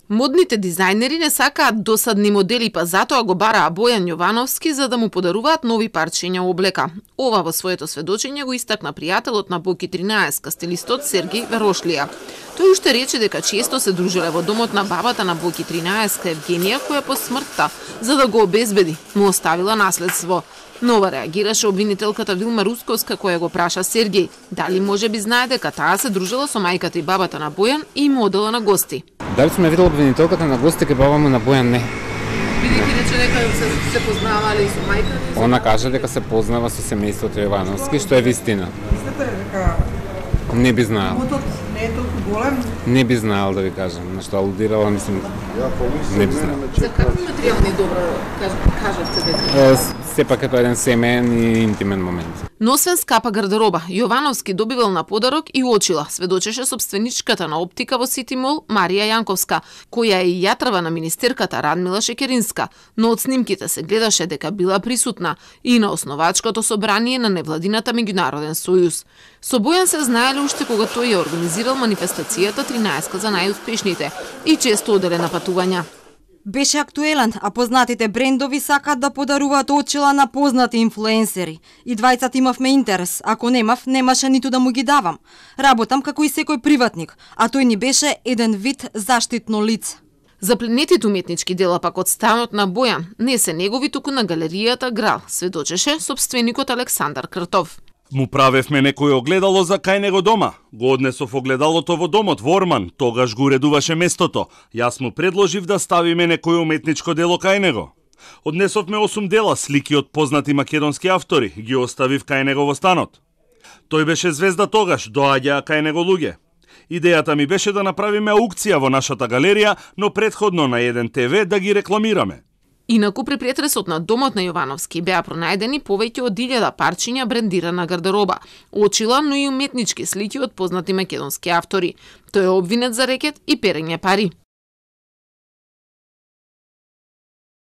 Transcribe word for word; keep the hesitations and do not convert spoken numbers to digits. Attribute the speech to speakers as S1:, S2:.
S1: Модните дизајнери не сакаат досадни модели, па затоа го бараа Бојан Јовановски за да му подаруваат нови парчиња облека. Ова во своето сведочење го истакна пријателот на Боки тринаесет, стилистот Сергеј Верошлија. Тој уште рече дека често се дружиле во домот на бабата на Боки тринаесет, Евгенија, која по смртта, за да го обезбеди, му оставила наследство. Нова реагираше обвинителката Вилма Русковска, која го праша Сергеј дали може би знае дека таа се дружила со мајката и бабата на Бојан и му одела на гости.
S2: Дали сме видела обвинителката на гости, ке баба му на Бојан не.
S1: Бидејќи рече дека се, се познавале и со мајката?
S2: Она каже дека се познава со семејството Јовановски, што е вистина.
S3: Мислите дека
S2: не би знаел.
S3: Мотот не е толку голем?
S2: Не би знаел да ви кажам, на што алудирала, мислам, не би знаел.
S1: За какви материјални добра кажавте дека?
S2: Сепак е тоа еден семеен и интимен момент.
S1: Но освен скапа гардероба, Јовановски добивал на подарок и очила, сведочеше собственичката на оптика во Сити Мол Марија Јанковска, која е и јатрава на министерката Радмила Шекеринска, но од снимките се гледаше дека била присутна и на основачкото собрание на невладината меѓународен сојуз. Со Бојан се знаеле уште кога тој ја организирал манифестацијата тринаесет за најуспешните и често оделе на патувања.
S4: Беше актуелен, а познатите брендови сакаат да подаруваат очила на познати инфлуенсери. И двајцата имавме интерес, ако немав, немаше ниту да му ги давам. Работам како и секој приватник, а тој ни беше еден вид заштитно лице.
S1: Запленетите уметнички дела пак од станот на Бојан не се негови, туку на галеријата Грал, сведочеше собственикот Александар Кртов.
S5: Му правевме некој огледало за кај него дома. Го однесов огледалото во домот во Орман, тогаш го уредуваше местото. Јас му предложив да ставиме некој уметничко дело кај него. Однесовме осум дела слики од познати македонски автори, ги оставив кај него во станот. Тој беше звезда тогаш, доаѓаа кај него луѓе. Идејата ми беше да направиме аукција во нашата галерија, но претходно на еден те ве да ги рекламираме.
S1: Инаку при претресот на домот на Јовановски беа пронајдени повеќе од илјада парчиња брендирана гардероба, очила, но и уметнички слики од познати македонски автори. Тој е обвинет за рекет и перење пари.